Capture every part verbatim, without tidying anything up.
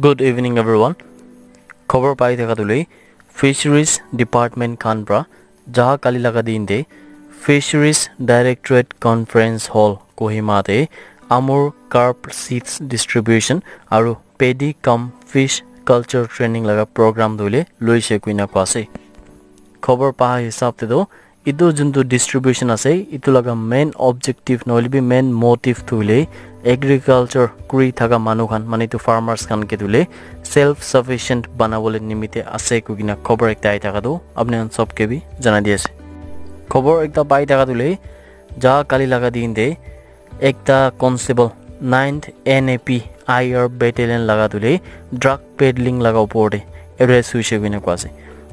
Good evening, everyone. Khobor pai thaka tu le Fisheries Department khan pra jaha kali laga din te Fisheries Directorate Conference Hall Kohima te Amur Carp Seeds Distribution aru Paddy cum Fish Culture Training laga program tu le loise kuina koa ase. Khobor pa hisab te tu etu juntu distribution ase, etu laga main objective nohoile bi main motive tu hoile agriculture kuri thaka manu khan, mane etu farmers khan ke tu hoile self sufficient banabole nimite ase koi kena khobor ekta ai thaka tu apni khan sob ke bi janai di ase. Khobor ekta pai thaka tu hoile ja kali laga din te ekta constable ninth N A P I R battalion laga tu hoile drug peddling laga upor te arrest hoise koi kena koa ase.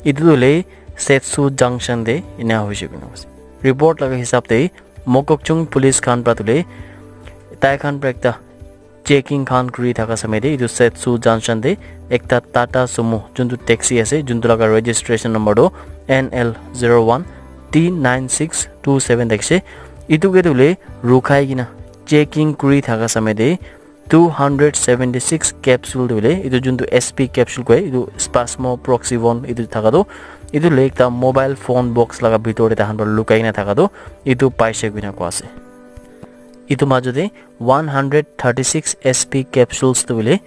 Etu tu hoile Setsu Junction te ena hoise koi kena koa ase. Report laga hisab te Mokokchung police khan pra tu hoile tai khan pra ekta checking khan kuri thaka samay te etu Setsu Junction te ekta Tata Sumo juntu taxi ase, juntu laga registration number tu N L zero one T nine six two seven thakise. Etu ke tu hoile rukhai kena checking kuri thaka samay te two hundred seventy six capsule tu hoile etu juntu S P capsule koi, etu spasmoproxivone etu thaka tu, etu hoile ekta mobile phone box laga bitor te tahan para lukai kena thaka tu etu paise koi kena koa ase. Etu majo te one hundred thirty six S P capsules tu hoile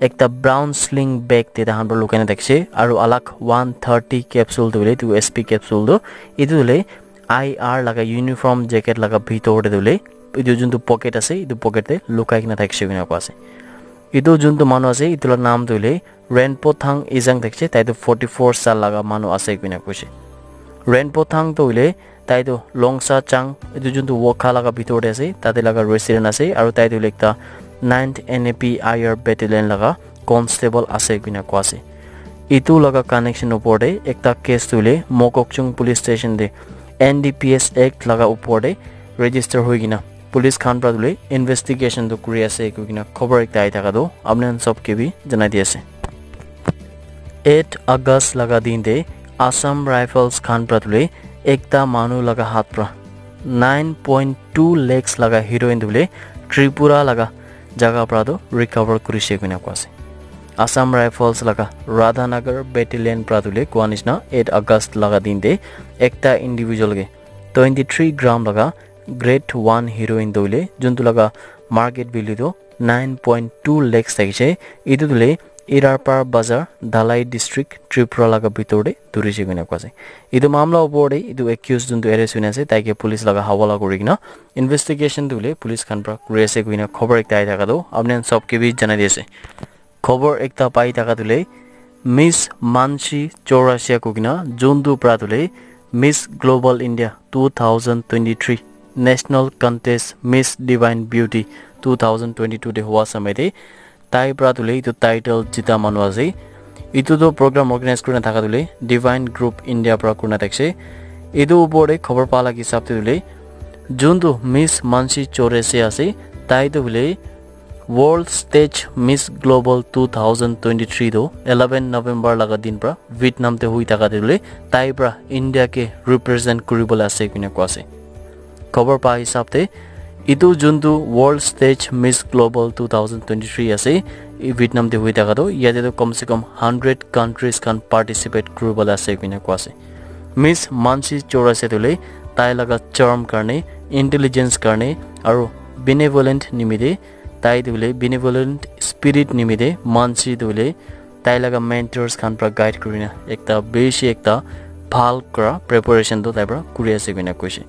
ekta brown sling bag te tahan para lukai kena thakise, aru alag one thirty capsule tu hoile etu S P capsule tu etu hoile I R laga uniform jacket laga bitor te tu hoile etu juntu pocket ase, etu pocket te lukai kena thakise koi kena koa ase. Etu juntu manu ase, etu la naam tu hoile Renpo Thang Ejang thakise, tai tu forty four saal laga manu ase koi kena koise. Renpo Thang tu hoile tai tu Longsa Chang, etu juntu Wokha laga bitor te ase, tate laga resident ase, aru tai tu hoile ekta ninth N A P I R battalion laga constable ase koi kena koa ase. Etu laga connection upor te ekta case tu hoile Mokokchung police station te N D P S Act laga upor te register hoi kena police khan pra tu hoile investigation tu kuri ase koi kena khobor ekta ai thaka tu apni khan sob ke bi janai di ase. Eight August laga din te Assam Rifles khan pra tu hoile ekta manu laga hath pra nine point two lakhs laga heroin tu hoile Tripura laga jaga pra tu recover kurise koi kena koa ase. Assam Rifles laga Radhanagar battalion pra tu hoile koa nishina eight August laga din te ekta individual ke twenty three gram laga grade one heroin tu hoile juntu laga market value tu nine point two lakhs thakise. Etu tu hoile Irarpar Bazar, Dhalai District, Tripura laga bitor te dhurise koi kena koa ase. Etu mamla upor te etu accused juntu arrest hoina ase, tai ke police laga hawala kuri kena investigation tu hoile police khan pra kuri ase koi kena khobor ekta ai thaka tu apni khan sob ke bi janai di ase. Khobor ekta pai thaka tu hoile Miss Mansi Chaurasia koi kena juntu pra tu hoile Miss Global India two thousand twenty-three National Contest Miss Divine Beauty two thousand twenty-two te hua samay te tai pra tu hoile etu title jita manu ase. Etu tu program organize kurina thaka tu hoile Divine Group India pra kurina thakise. Etu upor te khobor pa laga hisab te tu hoile juntu Miss Mansi Chaurasia ase, tai tu hoile World Stage Miss Global two thousand twenty-three tu eleven November laga din pra Vietnam te hui thaka te tu hoile tai pra India ke represent kuribole ase koi kena koa ase. Khobor pa hisab te etu juntu World Stage Miss Global two thousand twenty-three ase, e Vietnam te hui thaka tu yate tu kom se kom hundred countries khan participate kuribole ase koi kena koa ase. Miss Mansi Chaurasia tu hoile tai laga charm karne, intelligence karne aru benevolent nimite, tai tu hoile benevolent spirit nimite Mansi tu hoile tai laga mentors khan pra guide kurina ekta bishi ekta bhal kura preparation tu tai pra kuri ase koi kena koise.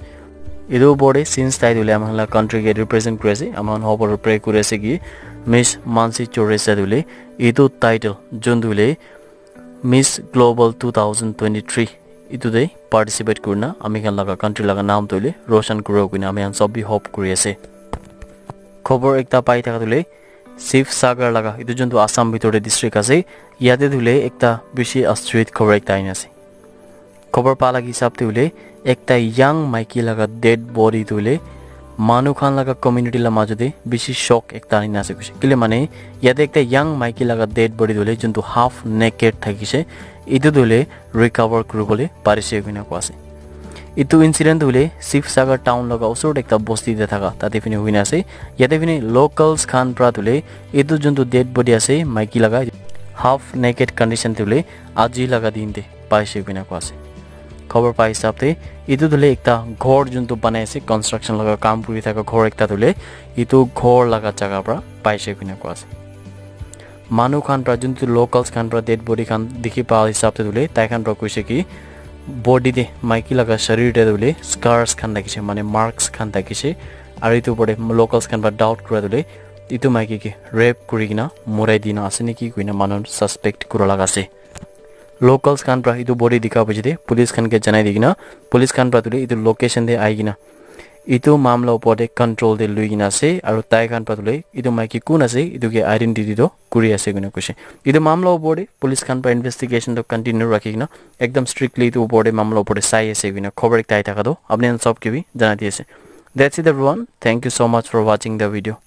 Etu upor te since tai tu hoile ama khan la country ke represent kuri ase, ama khan hobo pray kuri ase ki Miss Mansi Chaurasia tu hoile etu title juntu hoile Miss Global two thousand twenty-three etu te participate kurina ami khan laga country laga naam tu hoile roshan kuribo koi kena ami khan sob bi hope kuri ase. Khobor ekta pai thaka tu hoile Sivsagar laga, etu juntu Assam bitor te district ase, yate tu hoile ekta bishi astorit khobor ekta aina ase. Khobor pa laga hisab te hoile ekta young maiki laga dead body tu hoile manu khan laga community la majo te bishi shock ekta aina ase koise. Kile mane yate ekta young maiki laga dead body tu hoile juntu half naked thakise, etu tu hoile recover kuribole parise koi kena koa ase. Etu incident tu hoile Sibsagar town laga osor te ekta bosti te thaka tate phine hoina ase. Yate phine locals khan pra tu hoile etu juntu dead body ase maiki laga, half naked condition tu hoile aji laga din te paise koina koa ase. Khobor pa hisab te etu tu hoile ekta ghor juntu banai ase, construction laga kam kuri thaka ghor ekta tu hoile etu ghor laga jaga pra paise koina koa ase. Manu khan pra juntu locals khan pra dead body khan dikhi pa hisab te tu hoile tai khan pra koise ki body te, maiki laga sharir te tu hoile scars khan thakise, mane marks khan thakise. Aru etu opor te locals khan pra doubt kura tu hoile etu maiki ke rape kuri kena morai dina ase naki koina manu suspect kura laga ase. Locals khan pra etu body dikha piche te police khan ke janai di kena, police khan pra tu hoile etu location te ahi kena etu mamla opor te control te lui kena ase. Aru tai khan pra tu hoile etu maiki kun ase etu ke identity tu kuri ase koina koise. Etu mamla opor te police khan pra investigation tu continue rakhi kena ekdam strictly etu opor te mamla opor te sai ase koina khobor ekta ahi thaka tu apni khan sob ke bi janai di ase. That's it everyone. Thank you so much for watching the video.